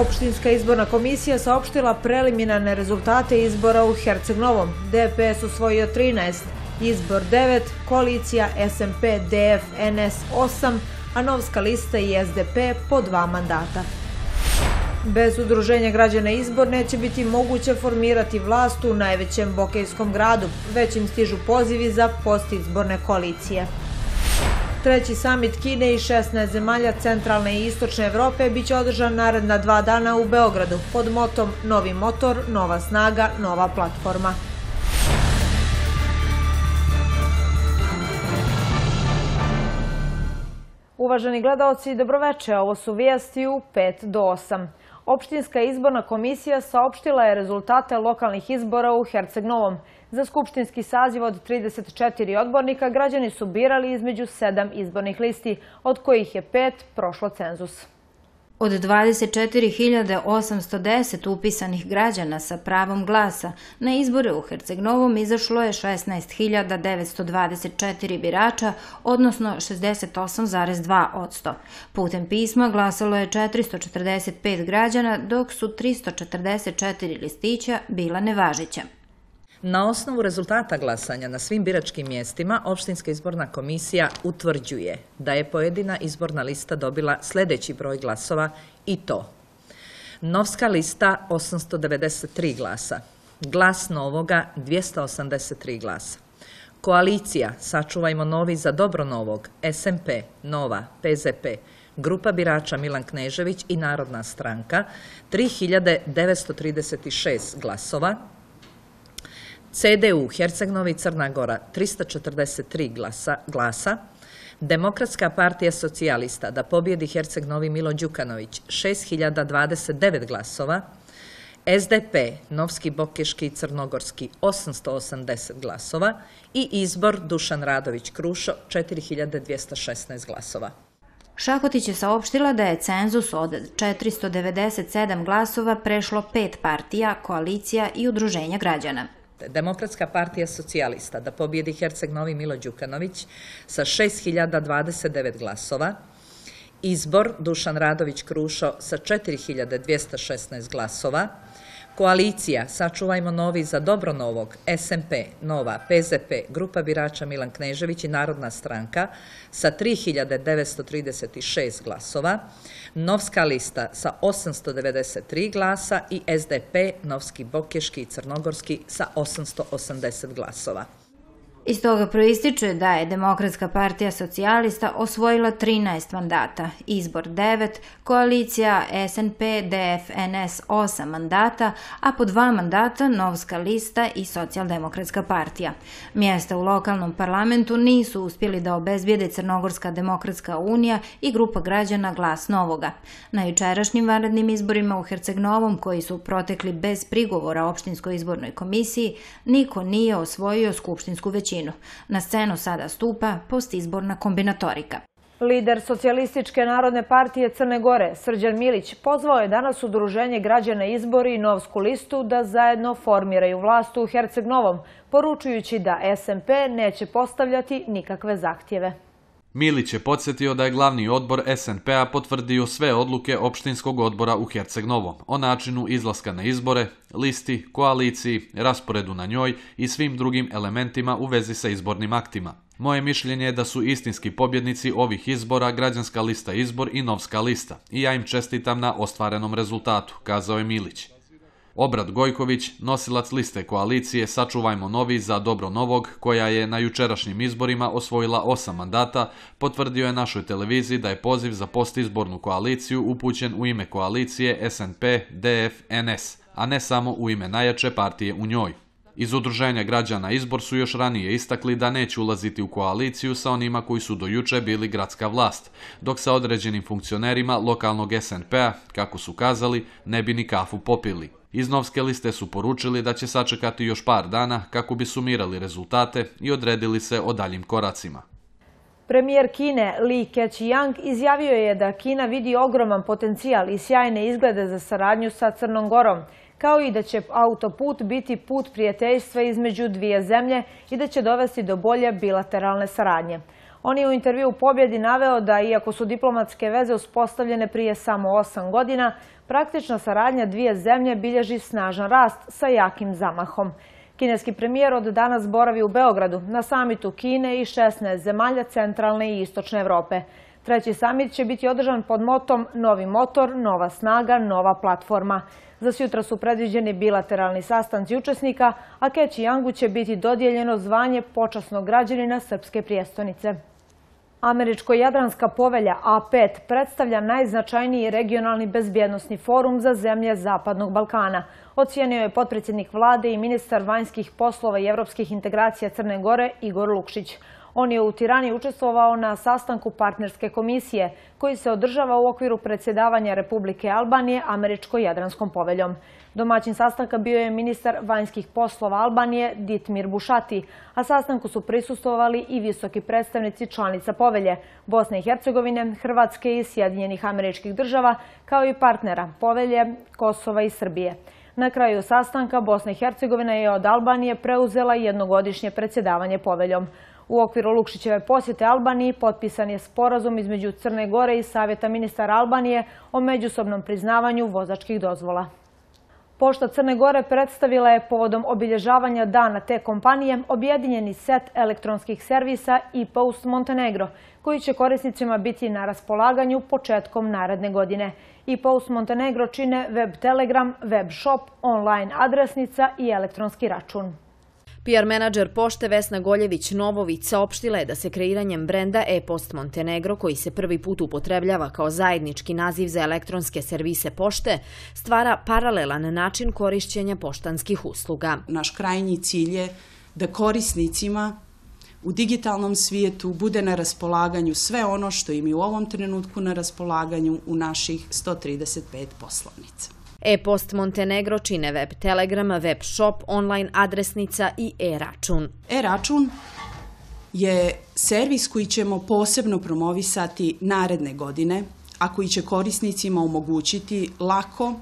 Opštinska izborna komisija saopštila preliminarne rezultate izbora u Herceg Novom. DPS osvojio 13, Izbor 9, koalicija SMP DF NS 8, a Novska lista i SDP po 2 mandata. Bez udruženja građana Izbor neće biti moguće formirati vlast u najvećem bokejskom gradu, već im stižu pozivi za postizborne koalicije. Treći samit Kine i 16 zemalja centralne i istočne Evrope biće održan naredna 2 dana u Beogradu pod motom Novi motor, nova snaga, nova platforma. Uvaženi gledaoci, dobroveče, ovo su vijesti u 5 do 8. Opštinska izborna komisija saopštila je rezultate lokalnih izbora u Herceg Novom. Za skupštinski saziv od 34 odbornika građani su birali između 7 izbornih listi, od kojih je 5 prošlo cenzus. Od 24.810 upisanih građana sa pravom glasa na izbore u Herceg Novom izašlo je 16.924 birača, odnosno 68,2%. Putem pisma glasalo je 445 građana, dok su 344 listića bila nevažeća. Na osnovu rezultata glasanja na svim biračkim mjestima, Opštinska izborna komisija utvrđuje da je pojedina izborna lista dobila sljedeći broj glasova i to: Novska lista 893 glasa, Glas Novoga 283 glasa, Koalicija Sačuvajmo Novi za dobro Novog, SMP, Nova, PZP, Grupa birača Milan Knežević i Narodna stranka 3936 glasova, CDU Herceg Novi Crna Gora 343 glasa, Demokratska partija socijalista Da pobjedi Herceg Novi Milo Đukanović 6029 glasova, SDP Novski Bokeški i Crnogorski 880 glasova i Izbor Dušan Radović Krušo 4216 glasova. Šahotić je saopštila da je cenzus od 497 glasova prešlo 5 partija, koalicija i udruženja građana. Demokratska partija socijalista Da pobjedi Herceg Novi Milo Đukanović sa 6029 glasova, Izbor Dušan Radović Krušo sa 4216 glasova, Koalicija Sačuvajmo Novi za dobro Novog, SMP, Nova, PZP, Grupa birača Milan Knežević i Narodna stranka sa 3936 glasova, Novska lista sa 893 glasa i SDP, Novski Bokeški i Crnogorski sa 880 glasova. Iz toga proističe da je Demokratska partija socijalista osvojila 13 mandata, Izbor 9, koalicija SNP DF NS 8 mandata, a po 2 mandata Novska lista i Socijaldemokratska partija. Mjesta u lokalnom parlamentu nisu uspjeli da obezbijede Crnogorska demokratska unija i Grupa građana Glas Novoga. Na jučerašnjim vanrednim izborima u Herceg Novom, koji su protekli bez prigovora Opštinskoj izbornoj komisiji, niko nije osvojio skupštinsku većinu. Na scenu sada stupa postizborna kombinatorika. Lider Socijalističke narodne partije Crne Gore, Srđan Milić, pozvao je danas Udruženje građana Izbor i Novsku listu da zajedno formiraju vlast u Herceg Novom, poručujući da SMP neće postavljati nikakve zahtjeve. Milić je podsjetio da je glavni odbor SNP-a potvrdio sve odluke opštinskog odbora u Herceg Novom o načinu izlaska na izbore, listi, koaliciji, rasporedu na njoj i svim drugim elementima u vezi sa izbornim aktima. Moje mišljenje je da su istinski pobjednici ovih izbora Građanska lista Izbor i Novska lista i ja im čestitam na ostvarenom rezultatu, kazao je Milić. Obrad Gojković, nosilac liste koalicije Sačuvajmo Novi za dobro Novog, koja je na jučerašnjim izborima osvojila 8 mandata, potvrdio je našoj televiziji da je poziv za postizbornu koaliciju upućen u ime koalicije SNP DF NS, a ne samo u ime najjače partije u njoj. Iz Udruženja građana Izbor su još ranije istakli da neće ulaziti u koaliciju sa onima koji su do juče bili gradska vlast, dok sa određenim funkcionerima lokalnog SNP-a, kako su kazali, ne bi ni kafu popili. Iz Novske liste su poručili da će sačekati još par dana kako bi sumirali rezultate i odredili se o daljim koracima. Premijer Kine Li Keqiang izjavio je da Kina vidi ogroman potencijal i sjajne izglede za saradnju sa Crnom Gorom, kao i da će autoput biti put prijateljstva između dvije zemlje i da će dovesti do bolje bilateralne saradnje. On je u intervju u Pobjedi naveo da, iako su diplomatske veze uspostavljene prije samo 8 godina, praktična saradnja dvije zemlje bilježi snažan rast sa jakim zamahom. Kineski premijer od danas boravi u Beogradu na samitu Kine i 16 zemalja centralne i istočne Evrope. Treći samit će biti održan pod motom Novi motor, nova snaga, nova platforma. Za sutra su predviđeni bilateralni sastanci učesnika, a Keći Jangu će biti dodijeljeno zvanje počasnog građanina srpske prijestolnice. Američko-Jadranska povelja A5 predstavlja najznačajniji regionalni bezbjednosni forum za zemlje Zapadnog Balkana, ocijenio je potpredsjednik vlade i ministar vanjskih poslova i evropskih integracija Crne Gore Igor Lukšić. On je u Tirani učestvovao na sastanku partnerske komisije koji se održava u okviru predsjedavanja Republike Albanije Američko-Jadranskom poveljom. Domaćin sastanka bio je ministar vanjskih poslova Albanije Ditmir Bušati, a sastanku su prisustvovali i visoki predstavnici članica povelje Bosne i Hercegovine, Hrvatske i Sjedinjenih Američkih Država, kao i partnera povelje Kosova i Srbije. Na kraju sastanka Bosna i Hercegovina je od Albanije preuzela jednogodišnje predsjedavanje poveljom. U okviru Lukšićeve posjete Albaniji potpisan je sporazum između Crne Gore i Savjeta ministara Albanije o međusobnom priznavanju vozačkih dozvola. Pošta Crne Gore predstavila je povodom obilježavanja dana te kompanije objedinjeni set elektronskih servisa e-Post Montenegro, koji će korisnicima biti na raspolaganju početkom naredne godine. e-Post Montenegro čine web telegram, web shop, online adresnica i elektronski račun. PR menadžer pošte Vesna Goljević-Novović saopštila je da se kreiranjem brenda e-Post Montenegro, koji se prvi put upotrebljava kao zajednički naziv za elektronske servise pošte, stvara paralelan način korišćenja poštanskih usluga. Naš krajnji cilj je da korisnicima u digitalnom svijetu bude na raspolaganju sve ono što im je u ovom trenutku na raspolaganju u naših 135 poslovnica. e-Post Montenegro čine web telegram, web shop, online adresnica i e-račun. E-račun je servis koji ćemo posebno promovisati naredne godine, a koji će korisnicima omogućiti lako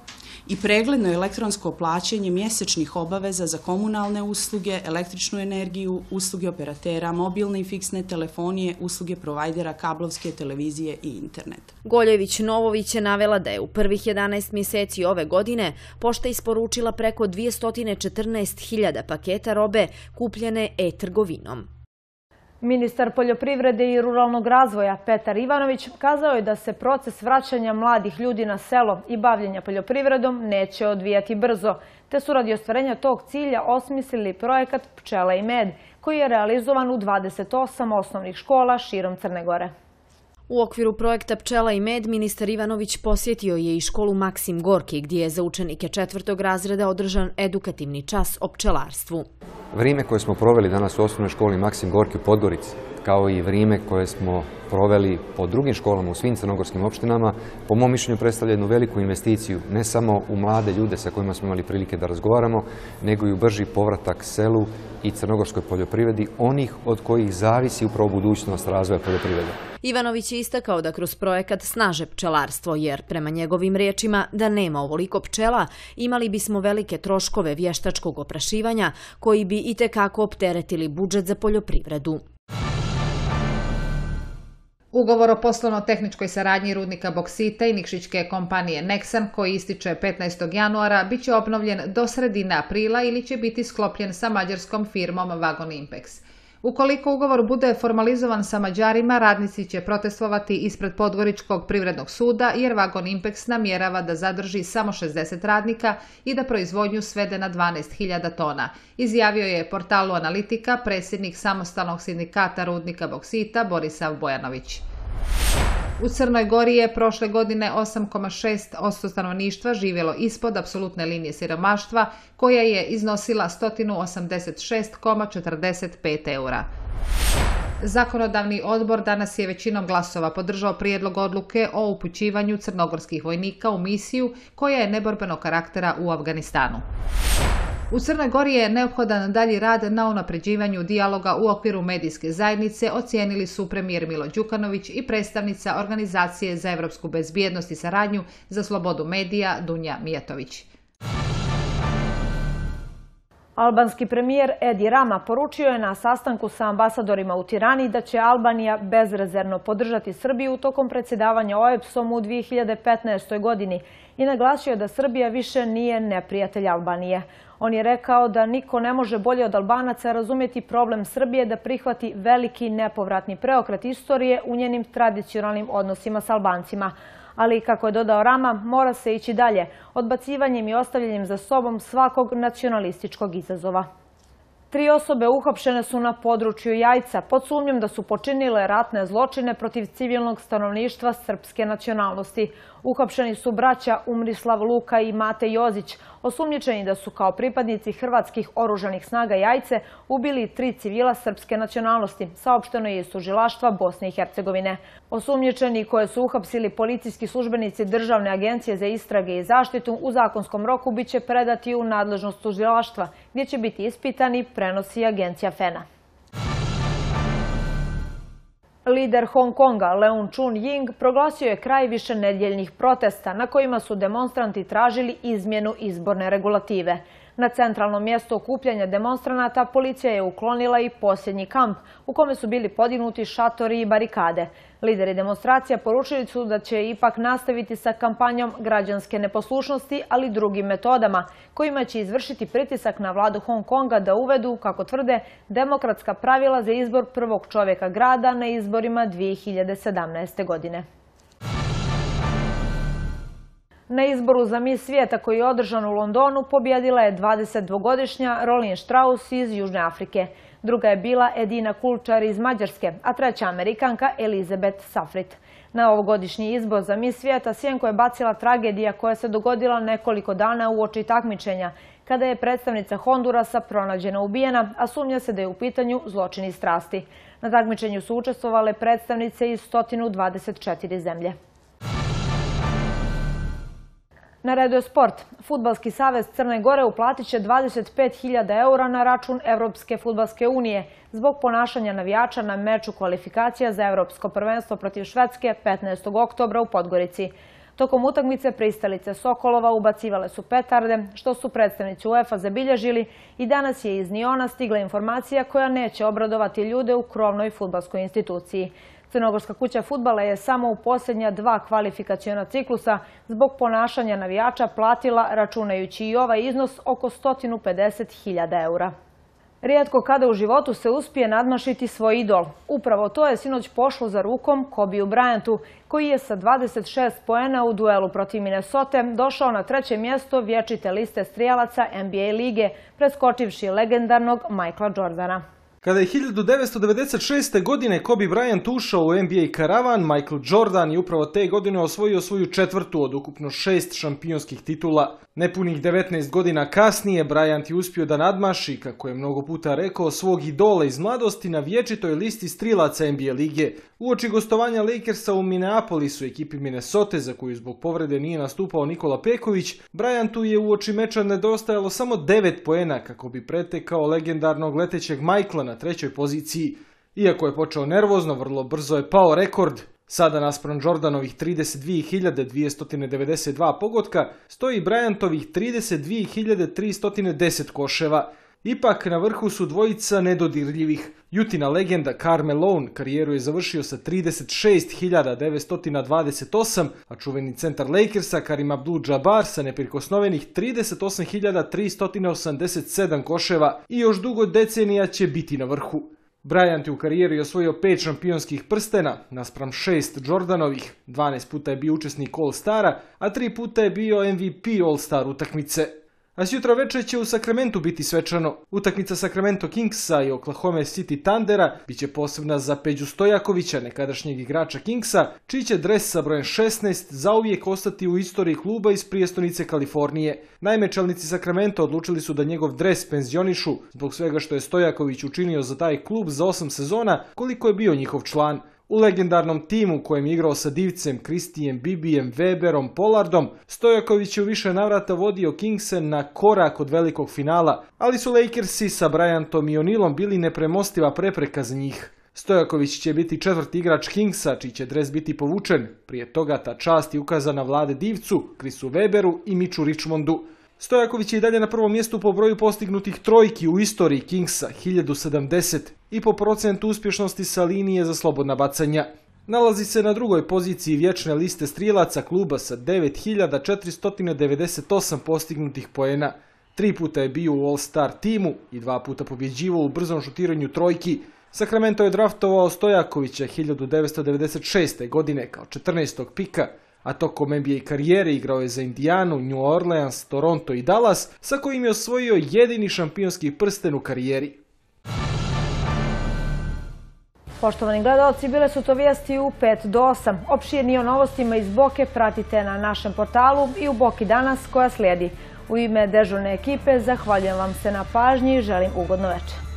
i pregledno elektronsko plaćanje mjesečnih obaveza za komunalne usluge, električnu energiju, usluge operatera, mobilne i fiksne telefonije, usluge provajdera, kablovske televizije i internet. Goljević-Novović je navela da je u prvih 11 mjeseci ove godine pošta isporučila preko 214.000 paketa robe kupljene e-trgovinom. Ministar poljoprivrede i ruralnog razvoja Petar Ivanović kazao je da se proces vraćanja mladih ljudi na selo i bavljenja poljoprivredom neće odvijati brzo, te su radi ostvarenja tog cilja osmislili projekat Pčela i med, koji je realizovan u 28 osnovnih škola širom Crne Gore. U okviru projekta Pčela i med ministar Ivanović posjetio je i školu Maksim Gorki, gdje je za učenike 4. razreda održan edukativni čas o pčelarstvu. Vrijeme koje smo proveli danas u osnovnoj školi Maksim Gorki u Podgorici, kao i vrijeme koje smo proveli po drugim školama u svim crnogorskim opštinama, po mom mišljenju predstavlja jednu veliku investiciju, ne samo u mlade ljude sa kojima smo imali prilike da razgovaramo, nego i u brži povratak selu i crnogorskoj poljoprivredi, onih od kojih zavisi upravo budućnost razvoja poljoprivrede. Ivanović je istakao da kroz projekat snaže pčelarstvo, jer prema njegovim riječima da nema ovoliko pčela, imali bismo velike troškove vještačkog oprašivanja koji bi itekako opteretili budžet za poljoprivredu. Ugovor o poslovno-tehničkoj saradnji rudnika boksita i nikšićke kompanije Nexan, koji ističe 15. januara, bit će obnovljen do sredine aprila ili će biti sklopljen sa mađarskom firmom Vagon Impex. Ukoliko ugovor bude formalizovan sa Mađarima, radnici će protestovati ispred Podgoričkog privrednog suda jer Vagon Impex namjerava da zadrži samo 60 radnika i da proizvodnju svede na 12.000 tona, izjavio je portalu Analitika predsjednik samostalnog sindikata rudnika boksita Borisav Bojanović. U Crnoj Gori je prošle godine 8,6% stanovništva živjelo ispod apsolutne linije siromaštva, koja je iznosila 186,45 eura. Zakonodavni odbor danas je većinom glasova podržao prijedlog odluke o upućivanju crnogorskih vojnika u misiju koja je neborbenog karaktera u Afganistanu. U Crnoj Gori je neophodan dalji rad na unapređivanju dijaloga u okviru medijske zajednice, ocijenili su premijer Milo Đukanović i predstavnica Organizacije za evropsku bezbjednost i saradnju za slobodu medija Dunja Mijatović. Albanski premijer Edi Rama poručio je na sastanku sa ambasadorima u Tirani da će Albanija bezrezervno podržati Srbiju tokom predsjedavanja OEBS-om u 2015. godini i naglasio da Srbija više nije neprijatelj Albanije. On je rekao da niko ne može bolje od Albanaca razumjeti problem Srbije da prihvati veliki nepovratni preokret istorije u njenim tradicionalnim odnosima s Albancima. Ali, kako je dodao Rama, mora se ići dalje, odbacivanjem i ostavljanjem za sobom svakog nacionalističkog izazova. 3 osobe uhapšene su na području Jajca pod sumnjom da su počinile ratne zločine protiv civilnog stanovništva srpske nacionalnosti. Uhapšeni su braća Umrislav Luka i Mate Jozić, osumnjičeni da su kao pripadnici hrvatskih oružanih snaga Jajce ubili 3 civila srpske nacionalnosti, saopšteno je iz tužilaštva Bosne i Hercegovine. Osumnjičeni koje su uhapsili policijski službenici Državne agencije za istrage i zaštitu u zakonskom roku biće predati u nadležnost tužilaštva, gdje će biti ispitani, prenosi agencija FENA. Lider Hong Konga Leung Chun-ying proglasio je kraj višenedjeljnih protesta na kojima su demonstranti tražili izmjenu izborne regulative. Na centralnom mjestu okupljanja demonstranata policija je uklonila i posljednji kamp u kome su bili podignuti šatori i barikade. Lideri demonstracija poručili su da će ipak nastaviti sa kampanjom građanske neposlušnosti, ali drugim metodama, kojima će izvršiti pritisak na vladu Hong Konga da uvedu, kako tvrde, demokratska pravila za izbor prvog čovjeka grada na izborima 2017. godine. Na izboru za Miss svijeta koji je održan u Londonu pobjedila je 22-godišnja Rolin Strauss iz Južne Afrike. Druga je bila Edina Kulčar iz Mađarske, a treća Amerikanka Elizabeth Safrit. Na ovogodišnji izbor za Miss svijeta sjenko je bacila tragedija koja se dogodila nekoliko dana uoči takmičenja, kada je predstavnica Hondurasa pronađena ubijena, a sumnja se da je u pitanju zločin iz strasti. Na takmičenju su učestvovale predstavnice iz 124 zemlje. Na redu je sport. Fudbalski savez Crne Gore uplatit će 25.000 eura na račun Evropske fudbalske unije zbog ponašanja navijača na meču kvalifikacija za Evropsko prvenstvo protiv Švedske 15. oktobra u Podgorici. Tokom utakmice pristalice Sokolova ubacivale su petarde, što su predstavnici UEFA zabilježili, i danas je iz Niona stigla informacija koja neće obradovati ljude u krovnoj fudbalskoj instituciji. Crnogorska kuća fudbala je samo u posljednja 2 kvalifikaciona ciklusa zbog ponašanja navijača platila, računajući i ovaj iznos, oko 150.000 eura. Rijetko kada u životu se uspije nadmašiti svoj idol. Upravo to je sinoć pošlo za rukom Kobiju Bryantu, koji je sa 26 poena u duelu protiv Minnesote došao na 3. mjesto vječite liste strijelaca NBA lige, preskočivši legendarnog Michaela Jordana. Kada je 1996. godine Kobe Bryant ušao u NBA karavan, Michael Jordan je upravo te godine osvojio svoju 4. od ukupno 6 šampionskih titula. Nepunih 19 godina kasnije Bryant je uspio da nadmaši, kako je mnogo puta rekao, svog idola iz mladosti na vječitoj listi strilaca NBA lige. Uoči gostovanja Lakersa u Minneapolisu, ekipi Minnesote, za koju zbog povrede nije nastupao Nikola Peković, Bryantu je uoči meča nedostajalo samo 9 poena kako bi pretekao legendarnog letećeg Michaela na 3. poziciji. Iako je počeo nervozno, vrlo brzo je pao rekord. Sada naspram Jordanovih 32.292 pogotka stoji Bryantovih 32.310 koševa. Ipak na vrhu su dvojica nedodirljivih. Jutina legenda Karl Malone karijeru je završio sa 36.928, a čuveni centar Lakersa Karim Abdul-Jabbar sa neprikosnovenih 38.387 koševa i još dugo decenija će biti na vrhu. Bryant je u karijeri osvojio 5 šampionskih prstena, naspram 6 Jordanovih, 12 puta je bio učesnik All-Stara, a 3 puta je bio MVP All-Star utakmice. A sutra večer će u Sacramentu biti svečano. Utakmica Sacramento Kingsa i Oklahoma City Thundera biće posebna za Peđu Stojakovića, nekadašnjeg igrača Kingsa, čiji će dres sa brojem 16 zauvijek ostati u istoriji kluba iz prijestolnice Kalifornije. Naime, čelnici Sacramento odlučili su da njegov dres penzionišu zbog svega što je Stojaković učinio za taj klub za 8 sezona, koliko je bio njihov član. U legendarnom timu kojem je igrao sa Divcem, Kristijem, Bibijem, Weberom, Pollardom, Stojaković je u više navrata vodio Kingse na korak od velikog finala, ali su Lakersi sa Bryantom i O'Nealom bili nepremostiva prepreka za njih. Stojaković će biti 4. igrač Kingsa, čiji će dres biti povučen. Prije toga ta čast je ukazana Vlade Divcu, Chrisu Weberu i Mitchu Richmondu. Stojaković je i dalje na prvom mjestu po broju postignutih trojki u istoriji Kingsa, 1070, i po procentu uspješnosti sa linije za slobodna bacanja. Nalazi se na drugoj poziciji vječne liste strijelaca kluba sa 9498 postignutih poena. 3 puta je bio u All-Star timu i 2 puta pobjeđivao u brzom šutiranju trojki. Sacramento je draftovao Stojakovića 1996. godine kao 14. pika, a tokom NBA karijere igrao je za Indijanu, New Orleans, Toronto i Dallas, sa kojim je osvojio jedini šampionski prsten u karijeri. Poštovani gledalci, bile su to vijesti u 5 do 8. Opširnije o novostima iz Boke pratite na našem portalu i u Boki danas koja slijedi. U ime dežurne ekipe zahvaljujem vam se na pažnji i želim ugodno večer.